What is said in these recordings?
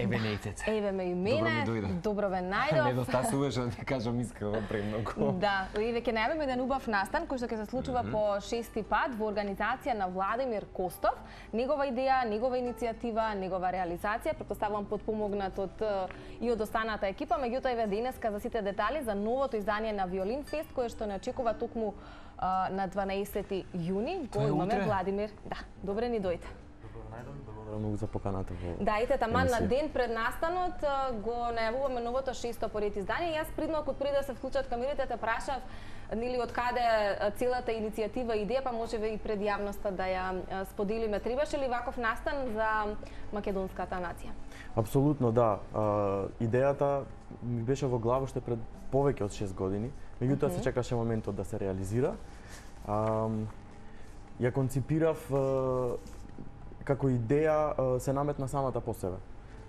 Еве нејтете. Еве ме и мене, добро ве најдов. Недостасуваш, да ти кажам искрено премногу. Да, еве ќе најавиме еден убав настан кој што ќе се случува по 6-ти пат во организација на Владимир Костов. Негова идеја, негова иницијатива, негова реализација, претпоставувам подпомогнат и од останата екипа, меѓутоа еве денеска за сите детали за новото издание на Виолин Фест кое што не очекува токму на 12 јуни. Го имаме Владимир. Да, добре ни дојде. Благодарам многу за поканата во. Да, ете таман на ден пред настанот го најавуваме новото 6-то поред издание. Јас пред да се вклучат камерите те прашав нели од каде целата иницијатива и идеја, па можеме и пред јавноста да ја споделиме. Требаше ли ваков настан за македонската нација? Апсолутно да. Идејата ми беше во глава уште пред повеќе од 6 години. Меѓутоа се чекаше моментот да се реализира. Ја конципирав како идеја се наметна самата по себе.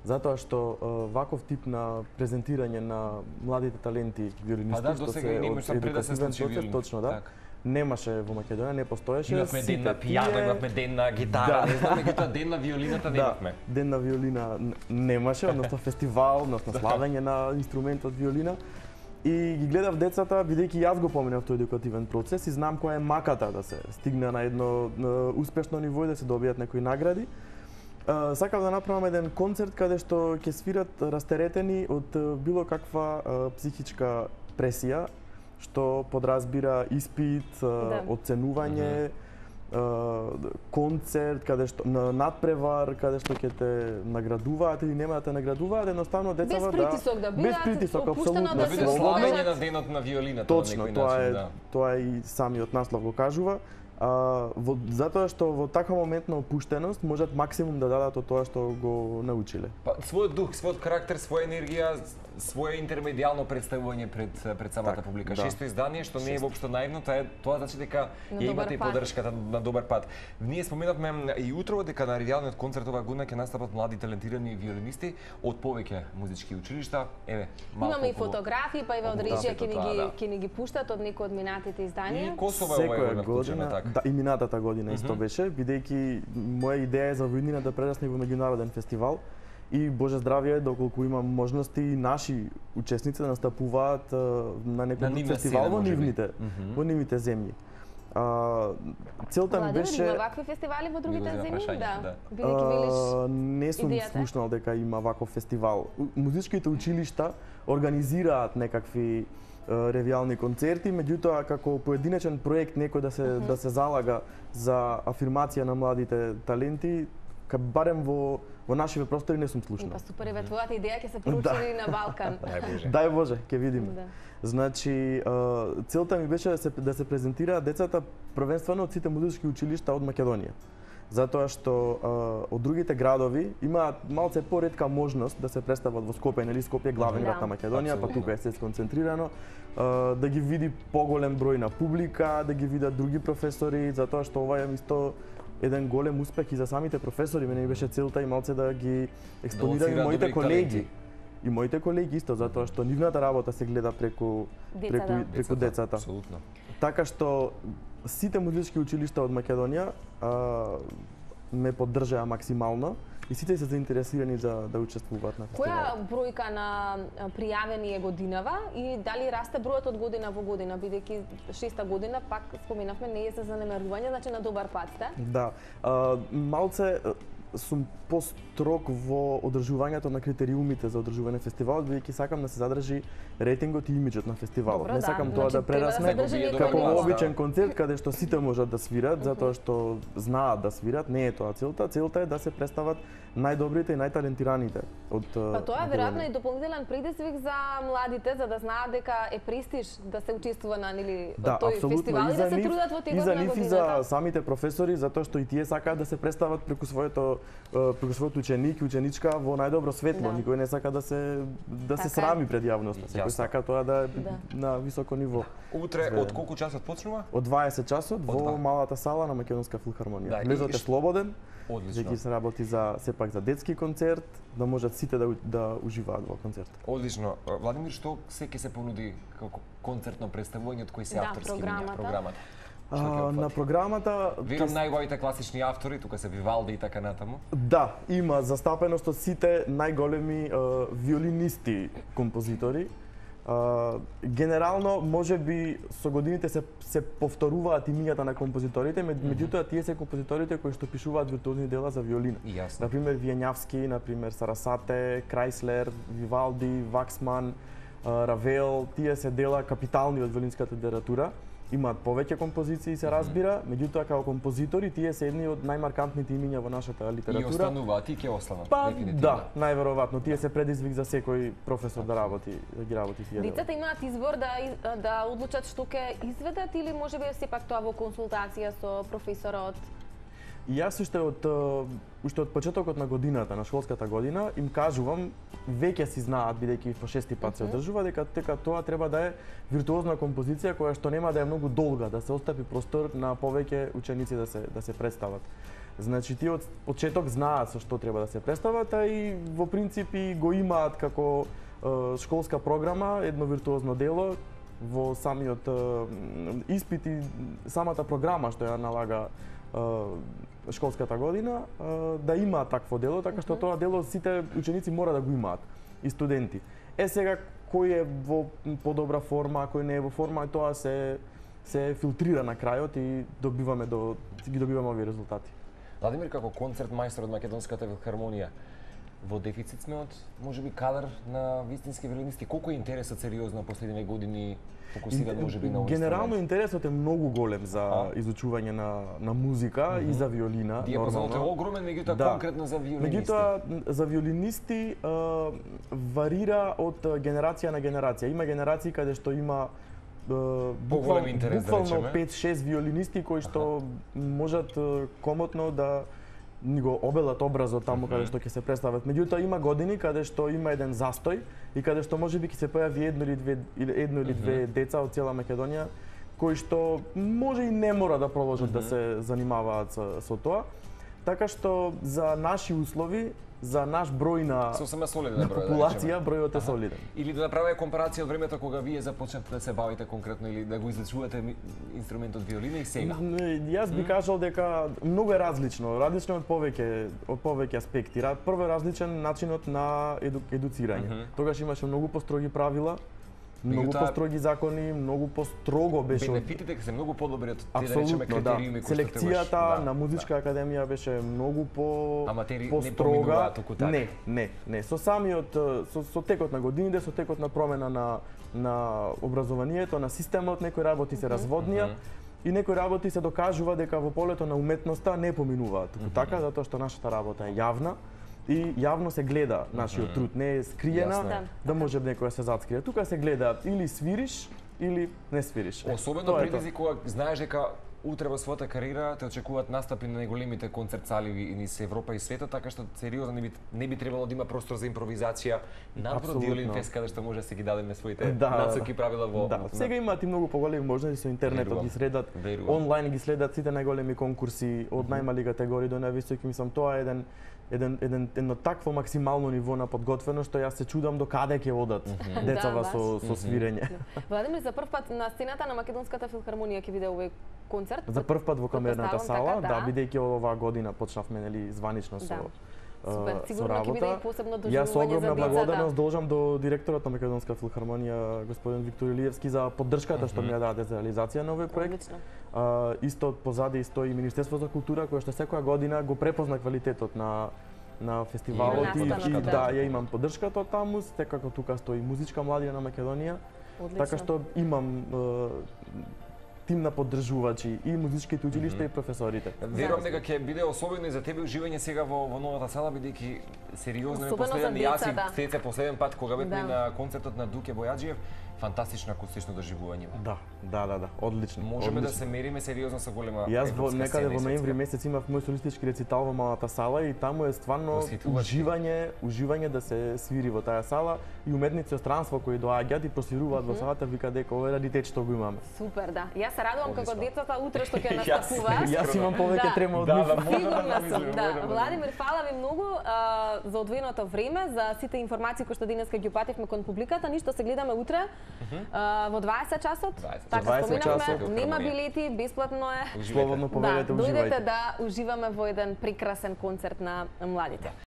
Затоа што ваков тип на презентирање на младите таленти виолинисти што се од едукативен процес, точно да, немаше во Македонија, не постоеше. Имавме ден на пијано, имавме ден на гитара, не знам, меѓутоа ден на виолината немавме. Ден на виолина немаше, односно фестивал, односно славење на инструментот виолина. И ги гледав децата, бидејќи јас го поминав тој едукативен процес и знам која е маката да се стигне на едно успешно ниво и да се добијат некои награди. Сакав да направам еден концерт каде што ќе свират растеретени од било каква психичка пресија, што подразбира испит, оценување, концерт, каде што надпревар, каде што ќе те наградуваат или нема да те наградуваат, едноставно децата без притисок да бидат, без притисок, апсолутно да биде славење на денот на виолината на некој начин, да. Тоа и самиот наслов го кажува. Затоа што во таква моментна опуштеност можат максимум да дадат од тоа што го научиле. Па својот дух, својот карактер, своја енергија, свое интермедијално представување пред самата публика. Шесто издание што не е воопшто наивно, тоа значи дека ја имате и поддршката на добар пат. Ние споменавме и утрово дека на ревијалниот концерт оваа година ќе настапат млади талентирани виолинисти од повеќе музички училишта. Еве, малку. Имаме и фотографии, па еве од режија ќе ни ги пуштат од некои од минатите изданија. И Косово е оваа година така. Да, и минатата година исто беше, бидејќи моја идеја е за во иднина да прерасне во меѓународен фестивал. И Боже здравје, доколку имам можности и наши учесници да настапуваат на некој фестивал во нивните земји. Целта ми беше има вакви фестивали во другите земји, да. Бидејќи велиш не сум слушнал дека има ваков фестивал. Музичките училишта организираат некакви ревијални концерти, меѓутоа како поединечен проект некој да се залага за афирмација на младите таленти, барем во нашиве простори не сум слушнал. Па супер, еве твојата идеја ќе се проучи на Балкан. Дај Боже, ќе видиме. Значи, целта ми беше да се презентираат децата првенствено од сите музички училишта од Македонија. Затоа што од другите градови имаат малце поретка можност да се представат во Скопје, нели Скопје е главен град на Македонија, па тука е се сконцентрирано, да ги види поголем број на публика, да ги видат други професори, затоа што ова е исто еден голем успех и за самите професори. Мене ми беше целта и малце да ги експонирам и моите колеги. И моите колеги исто, затоа што нивната работа се гледа преку децата. Апсолутно. Така што сите музички училишта од Македонија ме поддржаа максимално и сите се заинтересирани за да учествуваат на фестивалот. Која бројка на пријавени е годинава и дали расте бројот од година во година, бидејќи 6-та година пак споменавме не е за занемарување, значи на добар пат сте? Да, малце сум построг во одржувањето на критериумите за одржување на фестивалот, бидејќи сакам да се задржи рейтингот и имиџот на фестивалот. Не сакам тоа да прерасне како обичен концерт каде што сите можат да свират, затоа што знаат да свират, не е тоа целта. Целта е да се представат најдобрите и најталентираните од Па тоа е веројатно и дополнителен предизвик за младите за да знаат дека е престиж да се учествува на тој фестивал и да се трудат во текот на годината. И за самите професори, затоа што и тие сакаат да се представат преку својот ученик и ученичка во најдобро светло. Никој не сака да се срами пред јавноста. Секој сака тоа да е на високо ниво. Утре од колку часот почнува? Од 20 часот во малата сала на Македонска филхармонија. Влезот е слободен. Одлично. Ќе се работи сепак за детски концерт, да можат сите да уживаат во концертот. Одлично. Владимир, што се ќе се понуди како концертно представување, од кои се авторски програмата? На програмата Вирам најубавите класични автори, тука се Вивалди и така натаму. Да, има застапеност од сите најголеми виолинисти композитори. Генерално можеби со годините се повторуваат имињата на композиторите, меѓутоа тие се композиторите кои што пишуваат виртуозни дела за виолина. Например Вијањавски, например Сарасате, Крајслер, Вивалди, Ваксман, Равел, тие се дела капитални од виолинската литература. Имаат повеќе композиции, се разбира, меѓутоа како композитори тие се едни од најмаркантните имиња во нашата литература. И остануваат, и ќе останат. Па, да, најверојатно, тие се предизвик за секој професор да ги работи тие дела. Децата имаат избор да одлучат што ќе изведат или можеби сепак тоа во консултација со професорот? И јас уште од почетокот на годината, на школската година, им кажувам, веќе си знаат, бидејќи по шести пат се одржува, дека тоа треба да е виртуозна композиција која што нема да е многу долга, да се остави простор на повеќе ученици да се представат. Значи, тие од почеток знаат со што треба да се представат, а и во принцип и го имаат како школска програма едно виртуозно дело во самиот испит и самата програма што ја налага школската година, да има такво дело, така што тоа дело сите ученици мора да го имаат, и студенти. Сега, кој е во подобра форма, кој не е во форма, тоа се филтрира на крајот и ги добиваме овие резултати. Владимир, како концерт мајстор од Македонската филхармонија, во дефицит сме од, можеби, кадар на вистински виолинисти. Колку е интересот сериозно последниве години фокусиран можеби на овој инструмент? Генерално интересот е многу голем за изучување на музика и за виолина. Диапазонот е огромен, меѓутоа конкретно за виолинисти. Меѓутоа за виолинисти варира од генерација на генерација. Има генерации каде што има буквално 5-6 виолинисти кои што можат комотно да ни го обелат образот таму каде што ќе се представат. Меѓутоа има години каде што има еден застој и каде што можеби ќе се појави едно или две деца од цела Македонија кои што може и не мора да продолжат да се занимаваат со тоа. Така што за наши услови, за наш број на популација, бројот е солиден. Или да направиме компарација од времето кога вие започнавте да се бавите конкретно или да го изучувате инструментот виолина и сега? Јас би кажал дека многу е различно од повеќе аспекти. Прво е различен начинот на едуцирање. Тогаш имаше многу построги правила, многу построги закони, многу построго беше. Бенефитите се многу подобри од тие да речеме критериуми кои што селекцијата на музичка академија беше многу построга. Не. Со самиот со текот на годините, со текот на промена на образованието, на системот, некои работи се разводнија и некои работи се докажува дека во полето на уметноста не поминуваат. Така затоа што нашата работа е јавна и јавно се гледа нашиот труд, не е скриена, да може некој да се зацкрие. Тука се гледа или свириш или не свириш. Особено предизвик кога знаеш дека утре во својата кариера те очекуваат настапи на најголемите концерт сали низ Европа и светот, така што сериозно не би требало да има простор за импровизација напротив Виолин Фест, каде што може да се ги дадеме своите насоки правила во. Да, сега имаат и многу поголеми можности со интернетот, ги следат онлайн, ги следат сите најголеми конкурси од најмали категории до највисоки. Мислам, тоа е едно такво максимално ниво на подготвеност што јас се чудам до каде ќе одат децава со свирење. Владимир, за прв пат на сцената на Македонската филхармонија ќе биде овој концерт? За прв пат во камерната сала, да, бидејќи оваа година почнавме званично со работа. Јас огромна благодарност должам до директорот на Македонска филхармонија, господин Виктор Илиевски, за поддршката што ми ја даде за реализација на овој проект. Исто позади стои Министерство за култура, кој што секоја година го препозна квалитетот на фестивалот и да, ја имам поддршката од таму, секако тука стои Музичка младина на Македонија. Така што имам тим на поддржувачи и музичките училишта и професорите. Верувам дека ќе биде особено и за тебе уживање сега во новата сала, бидејќи сериозно е последен јас и последен пат кога бевме на концертот на Дуке Бојаджиев, фантастично акустично доживување. Да, одлично. Можеме да се мериме сериозно со голема европска сцена. Јас некаде во ноември месец имав мој солистички рецитал во малата сала и таму е стварно уживање да се свири во таа сала и уметници од странство кои доаѓаат и просвируваат во салата, вика дека ова е раритет што го имаме. Супер, да. Јас Јас се радувам како децата утре што ќе настапуваат. Јас имам повеќе трема од нив. Сигурна сум, да. Владимир, фала ви многу за одвоеното време, за сите информации кои што денеска ги упативме кон публиката. Ништо, се гледаме утре во 20 часот. Така споминавме, нема билети, бесплатно е. Слободно поведете, уживајте. Дојдете да уживаме во еден прекрасен концерт на младите.